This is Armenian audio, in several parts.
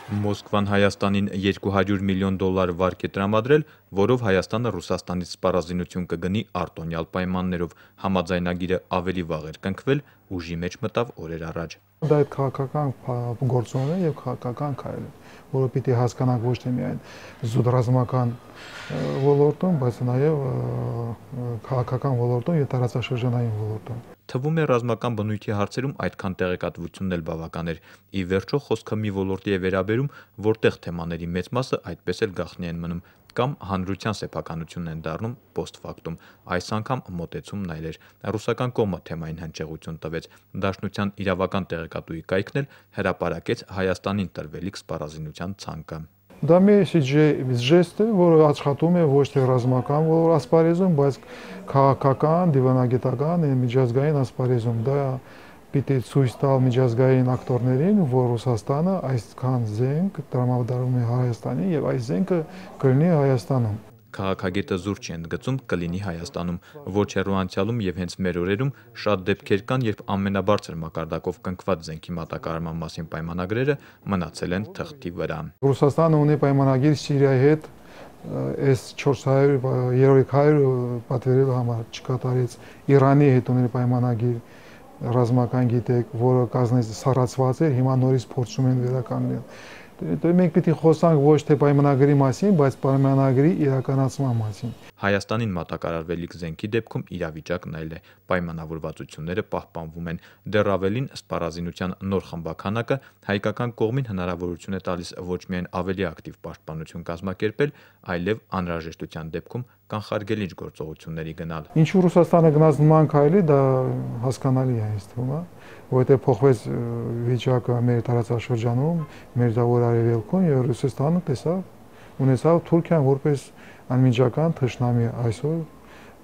Մոսկվան Հայաստանին $200 միլիոն վարկ է տրամադրել, որով Հայաստանը Ռուսաստանից սպառազինություն կգնի արտոնյալ պայմաններով։ Համաձայնագիրը ավելի վաղ էր կնքվել, ուժի մեջ մտավ օրեր առաջ։ Դա այդ քաղաքական գործոն է եւ քաղաքական քայլ է, որը պիտի հասկանանք ոչ թե միայն զուտ ռազմական ոլորտում, բայց նաեւ քաղաքական ոլորտում եւ տարածաշրջանային ոլորտում։ Թվում է ռազմական բնույթի հարցերում այդքան տեղեկատվությունն էլ բավական էր։ Ի վերջո խոսքը մի ոլորտի է վերաբերում, որտեղ թեմաների մեծ մասը այդպես էլ գաղտնի են մնում, կամ հանրության սեփականությունն են դառնում post factum։ Այս անգամ մոտեցումն այլ էր։ Ռուսական կողմը թեմային հնչեղություն տվեց։ Դաշնության իրավական տեղեկատուի կայքն էլ հրապարակեց Հայաստանին տրվելիք սպառազինության ցանկը։ Դա մի ժեստ է, որը աշխատում է ոչ թե ռազմական ասպարեզում, բայց քաղաքական, դիվանագիտական, միջազգային ասպարեզում։ Դա պիտի ցույց տալ միջազգային ակտորներին, որ Ռուսաստանը այսքան զենք տրամադրում է Հայաստանին եւ այս զենքը կլինի Հայաստանում։ Քաղաքագետը զուր չի ընդգծում կլինի Հայաստանում, ոչ հեռու անցյալում եւ հենց մեր օրերում շատ դեպքեր կան, երբ ամենաբարձր մակարդակով կնքված զենքի մատակարարման մասին պայմանագրերը մնացել են թղթի վրա։ Ռուսաստանը ունի պայմանագիր Սիրիայի հետ, S-400 պատվիրելու համար չկատարեց, Իրանի հետ ունի պայմանագիր ռազմական գիտեք, որը կազմից սառացված էր, հիմա նորից փորձում են վերականգնել։ Մենք պիտի խոսանք ոչ թե պայմանագրի մասին, բայց պայմանագրի իրականացման մասին։ Հայաստանին մատակարարվելիք զենքի դեպքում իրավիճակն այլ է, պայմանավորվածությունները պահպանվում են։ Դեռ ավելին, սպառազինության նոր խմբաքանակը հայկական կողմին հնարավորություն է տալիս ոչ միայն ավելի ակտիվ պաշտպանություն կազմակերպել, այլև անհրաժեշտության դեպքում կանխարգելիչ գործողությունների գնալ։ Ինչու Ռուսաստանը գնաց նման քայլի, դա հասկանալի է ինձ թվում, որովհետև փոխվեց վիճակը մեր տարածաշրջանում, մեր դավոր արևելքում եւ Ռուսաստանը ունեցավ Թուրքիան որպես անմիջական թշնամի այսօր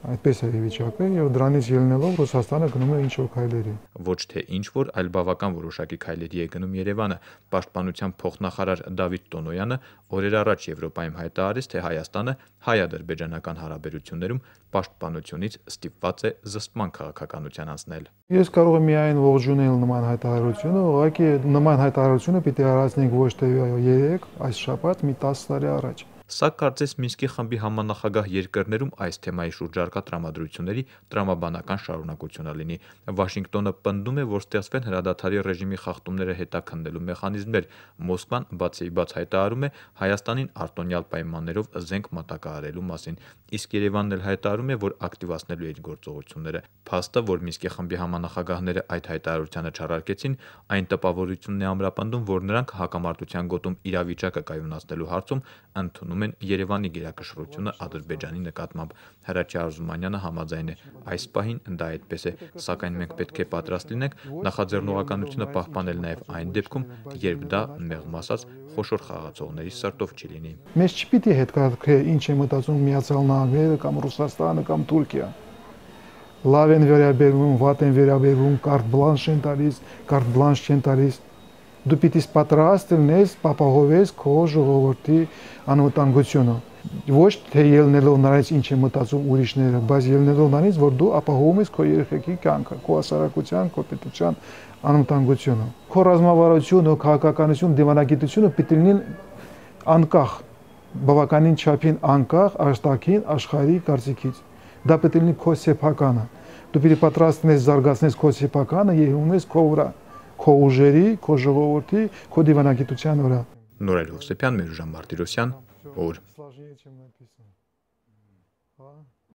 այդպես է վիճակը եւ դրանից ելնելով Ռուսաստանը գնում է ինչ-որ քայլերի։ Ոչ թե ինչ-որ, այլ բավական որոշակի քայլերի է գնում Երևանը։ Պաշտպանության փոխնախարար Դավիթ Տոնոյանը օրեր առաջ Եվրոպայում հայտարարեց, թե Հայաստանը հայ-ադրբեջանական հարաբերություններում պաշտպանությունից ստիպված է զսպման քաղաքականության անցնել։ Ես կարող եմ միայն ողջունել նման հայտարարությունը, ուղղակի նման հայտարարությունը պիտի առանցնենք ոչ թե 3, այս շաբաթ մի 10 տարի առաջ։ Սա կարծես Մինսկի խմբի համանախագահ երկրներում այս թեմայի շուրջ առկա տրամադրությունների տրամաբանական շարունակությունը լինի։ Վաշինգտոնը պնդում է, որ ստեղծվեն հրադադարի ռեժիմի խախտումները հետաքննելու մեխանիզմներ։ Մոսկվան բացի բաց հայտարարում է Հայաստանին արտոնյալ պայմաններով զենք մատակարարելու մասին, իսկ Երևանն էլ հայտարարում է, որ ակտիվացնելու է իր գործողությունները։ Փաստը, որ Մինսկի խմբի համանախագահները այդ հայտարարությանը չառարկեցին, այն տպավորությունն է ամրապնդում, որ նրանք հակամարտության գոտում իրավիճակը կայունացնելու հարցում ընդունում են Երևանի գերակշռությունը Ադրբեջանի նկատմամբ։ Հրաչյա Արզումանյանը համաձայն է, այս պահին դա այդպես է, սակայն մենք պետք է պատրաստ լինենք նախաձեռնողականությունը պահպանել նաև այն դեպքում, երբ դա մեղմ ասած խոշոր խաղացողների սրտով չի լինի։ Մեզ չպիտի հետաքրքրի ինչ է մտածում Միացյալ Նահանգները կամ Ռուսաստանը կամ Թուրքիան։ Լավ են վերաբերվում, վատ են վերաբերվում, կարտ բլանշ են տալիս, կարտ բլանշ չեն տալիս։ Դու պիտի պատրաստ լինես, ապահովես քո ժողովրդի անվտանգությունը։ Ոչ թե ելնելով նրանից ինչ է մտածում ուրիշները, բայց ելնելով նրանից, որ դու ապահովում ես քո երեխեքի կյանքը, քո հասարակության, քո պետության անվտանգությունը։ Քո ռազմավարությունը, քաղաքականությունը, դիվանագիտությունը պիտի լինեն անկախ, բավականին չափին անկախ արտաքին աշխարհի կարծիքից։ Դա պետք է լինի քո սեփականը։ Դու պիտի պատրաստ լինես զարգացնես քո սեփականը եւ ունես քո վրա, քո ուժերի, քո ժողովրդի, քո դիվանագիտության վրա։ Նորայր Հովսեփյան, Մերուժան Մարտիրոսյան, օր։